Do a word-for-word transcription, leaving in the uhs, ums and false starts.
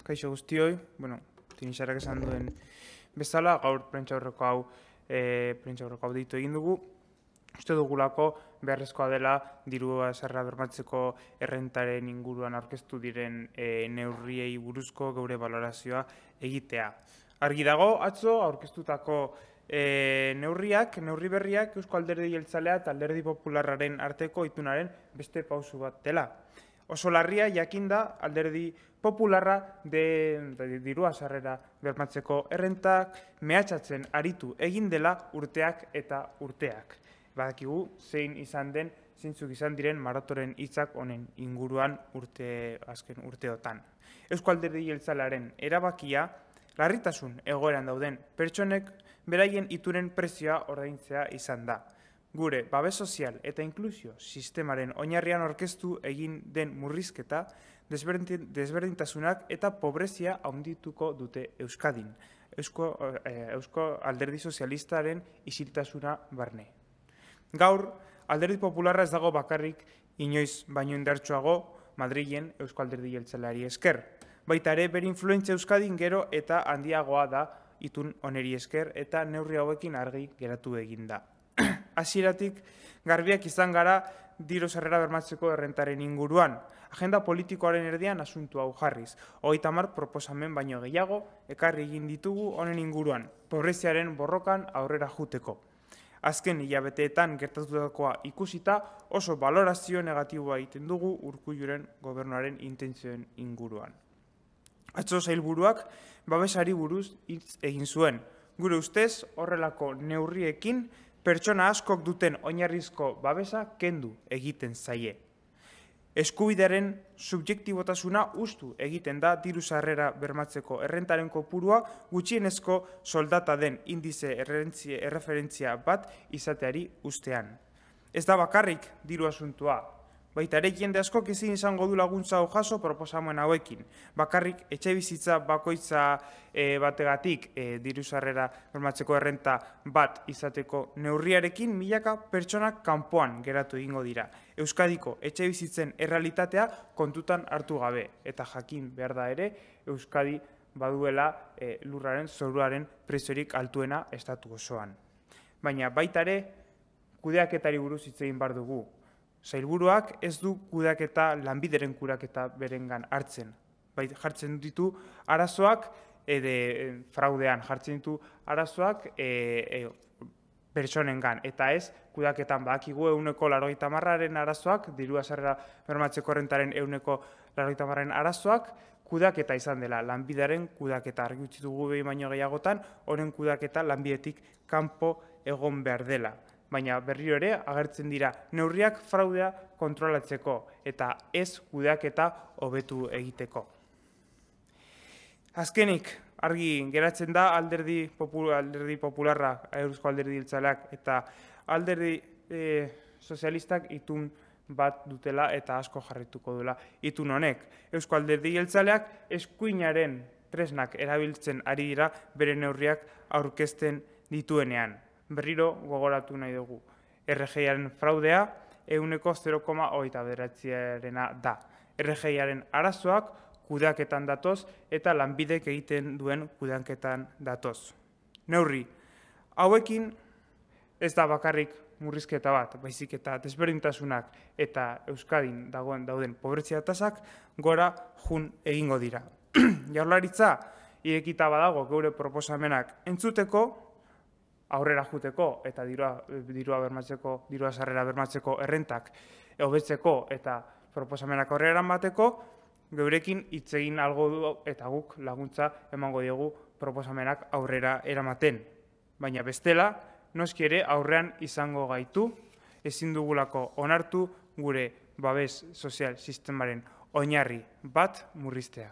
kaixo guztioi, bueno, Tinixarak esan duen bezala, gaur prentsaurreko hau, e, prentsaurreko hau deitu egin dugu. Uste dugulako beharrezkoa dela dirua zerra bermatzeko errentaren inguruan aurkeztu diren e, neurriei buruzko geure balorazioa egitea. Argi dago, atzo aurkeztutako e, neurriak, neurri berriak Eusko Alderdi Jeltzalea eta Alderdi Popularraren arteko itunaren beste pausu bat dela. Oso larria jakinda Alderdi Popularra de, de dirua sarrera bermatzeko errentak mehatxatzen aritu egin dela urteak eta urteak. Badakigu zein izan den, zeintzuk izan diren maratoren hitzak honen inguruan urte azken urteotan. Eusko Alderdi Jeltzalearen erabakia larritasun egoeran dauden pertsonek beraien itunen prezioa ordaintzea izan da. Gure babes sozial eta inklusio sistemaren oinarrian orkestu egin den murrizketa, desberdintasunak eta pobrezia handituko dute Euskadin. Eusko, eh, Eusko Alderdi Sozialistaren isiltasuna barne. Gaur, Alderdi Popularra ez dago bakarrik inoiz baino indartsuago Madrilen Eusko Alderdi Jeltzaleari esker. Baita ere, bere influentzia Euskadin gero eta handiagoa da itun oneri esker eta neurri hauekin argi geratu egin da. Hasieratik garbiak izan gara diru sarrera bermatzeko errentaren inguruan. Agenda politikoaren erdian asuntu hau jarriz. Hogeita hamar proposamen baino gehiago ekarri egin ditugu honen inguruan, pobreziaren borrokan aurrera juteko. Azken hilabeteetan gertatutakoa ikusita oso balorazio negatiboa egiten dugu Urkulluren gobernuaren intentzioen inguruan. Atzo sailburuak babesari buruz hitz egin zuen. Gure ustez horrelako neurriekin pertsona askok duten oinarrizko babesa kendu egiten zaie. Eskubidearen subjektibotasuna ustu egiten da diru sarrera bermatzeko errentaren kopurua gutxienezko soldata den indize erreferentzia bat izateari ustean. Ez da bakarrik diru asuntua. Baita ere jende askok ezin izango du laguntza hau jaso proposamen hauekin. Bakarrik etxebizitza bakoitza e, bategatik e, diru sarrera bermatzeko errenta bat izateko neurriarekin milaka pertsonak kanpoan geratu egingo dira. Euskadiko etxebizitzen errealitatea kontutan hartu gabe. Eta jakin behar da ere, Euskadi baduela e, lurraren zoruaren preziorik altuena estatu osoan. Baina baita ere, kudeaketari buruz hitz egin behar dugu. Sailburuak ez du kudeaketa lanbideren kudeaketa berengan hartzen. Bai, jartzen ditu arazoak ede fraudean, jartzen ditu arazoak e, e, pertsonengan. Eta ez, kudeaketan badakigu ehuneko laurogeita hamarraren arazoak, dirua sarrera bermatzeko errentaren ehuneko laurogeita hamarraren arazoak, kudeaketa izan dela, lanbideren kudeaketa. Argi utzi dugu behin baino gehiagotan, honen kudeaketa lanbidetik kanpo egon behar dela. Baina berriro ere agertzen dira neurriak fraudea kontrolatzeko eta ez kudeaketa hobetu egiteko. Azkenik, argi geratzen da alderdi, popul, alderdi popularra, Eusko Alderdi Jeltzaleak eta alderdi e, sozialistak itun bat dutela eta asko jarrituko duela itun honek. Eusko Alderdi Jeltzaleak eskuinaren tresnak erabiltzen ari dira bere neurriak aurkezten dituenean. Berriro gogoratu nahi dugu. R G I-aren fraudea ehuneko zero koma hogeita bederatziarena da. R G I-aren arazoak kudeaketan datoz eta lanbidek egiten duen kudeaketan datoz. Neurri, hauekin ez da bakarrik murrizketa bat, baizik eta desberdintasunak eta Euskadin dagoen dauden pobrezia tasak gora jun egingo dira. Jaurlaritza irekita badago geure proposamenak entzuteko, aurrera juteko eta dirua, dirua bermatzeko, dirua sarrera bermatzeko errentak hobetzeko eta proposamenak aurrera eramateko, geurekin hitz egin algo du eta guk laguntza emango diegu proposamenak aurrera eramaten. Baina bestela, noski ere aurrean izango gaitu, ezin dugulako onartu gure babes sozial sistemaren oinarri bat murriztea.